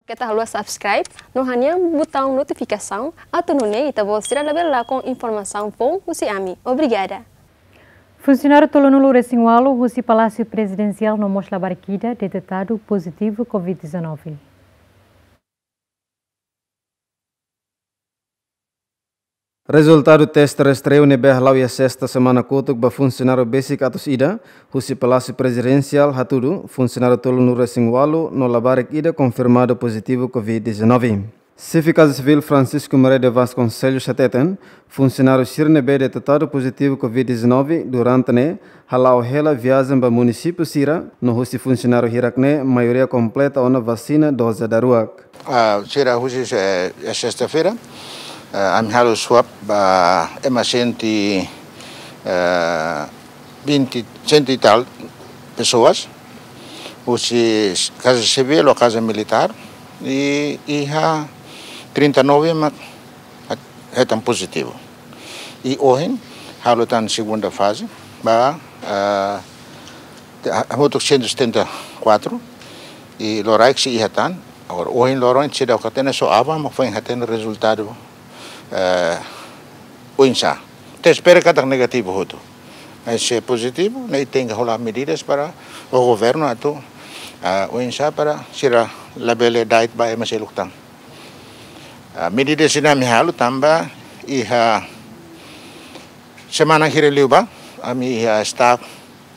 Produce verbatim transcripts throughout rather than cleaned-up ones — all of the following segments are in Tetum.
Keta haluha subscribe no hanehan butaun notifikasaun atu nune'e ita-boot sira labele lakon informasaun foun husi ami. Obrigada. Funsionáriu tolunulu resin ualu husi Palásiu Prezidensiál no mós labarik ida detetadu pozitivu covid dezanove. Rezultadu teste rastreu ne'ebé hala'o iha sesta semana kotuk ba funsionáriu besik atus ida husi Palásiu Prezidensiál hatudu funsionáriu tolunulu resin ualu no labarik ida konfirmadu pozitivu covid dezanove. Xefe Kaza Sivíl Francisco Maria de Vasconcelos hateten, funsionáriu sira ne'ebé detetadu pozitivu covid dezanove durante ne'e hala'o hela viajen ba munisípiu sira, no husi funsionáriu hirak ne'e maioria kompleta ona vasina doze daruak. Ah, sira husi, eh, sesta-feira, eh, ami halo swab ba ema senti, eh, vinte, cento e tal pessoas, husi Kaza Sivíl ou Kaza Militár, i iha trinta e nove mak hetan pozitivu. I ohin halo tan segunda faze ba, ah, te-, hamutuk cento e setenta e quatro, i loraik sei iha tan. Agora, ohin loron seidauk hatene, só aban mak foin hatene rezultadu, eh, oinsá. Ita espera katak negativu hotu. Mas se pozitivu, ne'e tenke hola medidas para o governu atu, ah, oinsá para sira labele da'et ba ema seluk tan. Ah, medida sira ami halo tanba iha semana hira liubá, ami iha staff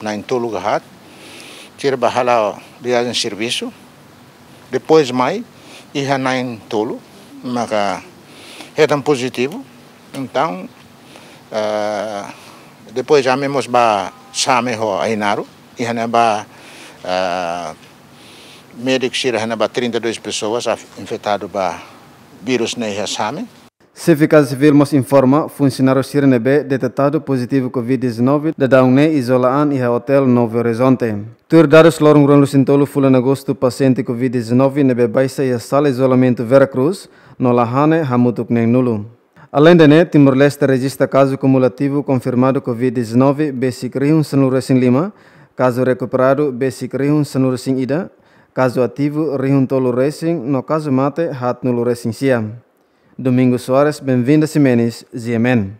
na'in-tolu ka haat, sira bá hala'o viajen servisu. Depois mai, iha na'in-tolu maka hetan pozitivu. Entaun, eh, depois ami mós bá Same ho Ainaro, iha ne'ebá, eh, médiku sira iha ne'ebá trinta e dois pessoas af-, infetadu ba vírus ne'e iha Same. Xefe Kaza Sivíl mós informa, funsionáriu sira ne'ebé detetadu pozitivu covid dezanove daudaun ne'e izola an iha Hotel Novo Horizonte. Tuir dadus loron ruanulu-resin-tolu fulan Agostu pasiente covid dezanove ne'ebé baixa iha sala izolamentu Vera Cruz no La Haṋe hamutuk neen-nulu. Aleinde ne'e, Timor-Leste rejista kazu kumulativu konfirmadu covid dezanove besik rihun sanulu-resin-lima, kazu rekuperadu besik rihun sanulu-resin-ida, kazu ativu rihun-tolu-resin no kazu mate haatnulu-resin-sia. Domingos Soares, Benvinda Ximenes, G M N.